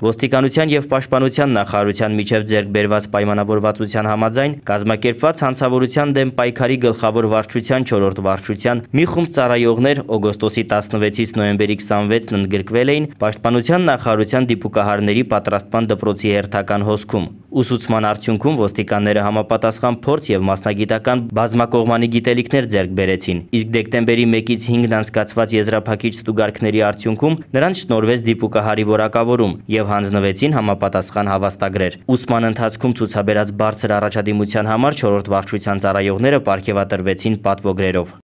Ոստիկանության և պաշտպանության նախարարության միջև ձեռք բերված պայմանավորվածության համաձայն կազմակերպված հանցավորության դեմ պայքարի գլխավոր վարչության 4-րդ վարչության մի խումբ ծառայողներ օգոստոսի 16-ից նոյեմբերի 26-ն ընդգրկվել էին Պաշտպանության նախարարության դիպուկահարների պատրաստման դպրոցի հերթական հոսքում։ Ուսուցման արդյունքում ոստիկանները համապատասխան փորձ և մասնագիտական բազմակողմանի գիտելիքներ ձեռք բերեցին, իսկ դեկտեմբերի 1-ից 5-ն անցկացված եզրափակիչ ստուգարքների արդյունքում նրանց շնորհվեց դիպուկահարի որակավորում և հանձնվեցին համապատասխան հավաստագրեր։ Ուսման ընթացքում ցուցաբերած բարձր առաջադիմության համար 4-րդ վարչության ծառայողները պարգևատրվեցին պատվոգրերով։